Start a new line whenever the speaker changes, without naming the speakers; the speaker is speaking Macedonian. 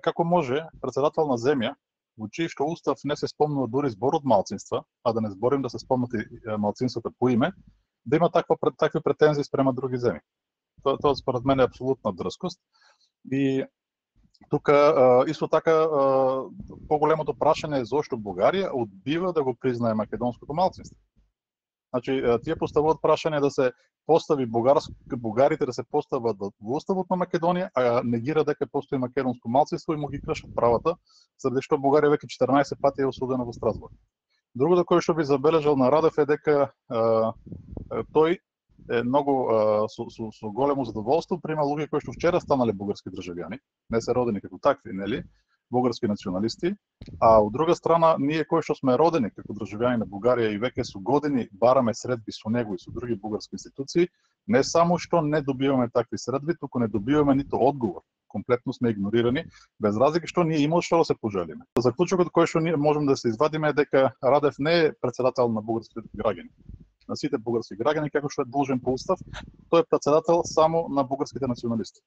Како може председател на земја, во чиј што устав не се спомнува дури зборот малцинства, а да не зборим да се спомнати малцинствата по име, да има такви претензии спрема други земји. Тоа според мене е апсолутна дрскост. И тука исто така поголемото прашање е зошто Бугарија одбива да го признае македонското малцинство. Значи, тие поставуваат прашање да се постави бугарите да се постават во уставот на Македонија, а негира дека постои македонско малцинство и му ги кршат правата, заради што Бугарија веќе 14 пати е осудена во Страсбург. Другото кое што би забележал на Радев е дека тој е многу со големо задоволство прима луѓе кои што вчера станале бугарски државјани, не се родени како такви, нели? Бугарски националисти, а од друга страна ние кои што сме родени како државјани на Бугарија и веќе со години бараме средби со него и со други бугарски институции, не само што не добиваме такви средби, туку не добиваме ниту одговор. Комплетно сме игнорирани, без разлика што ние имало што да се пожелиме. Заклучокот кој што ние можеме да се извадиме е дека Радев не е председател на бугарските граѓани, на сите бугарски граѓани како што е должен по устав, тој е председател само на бугарските националисти.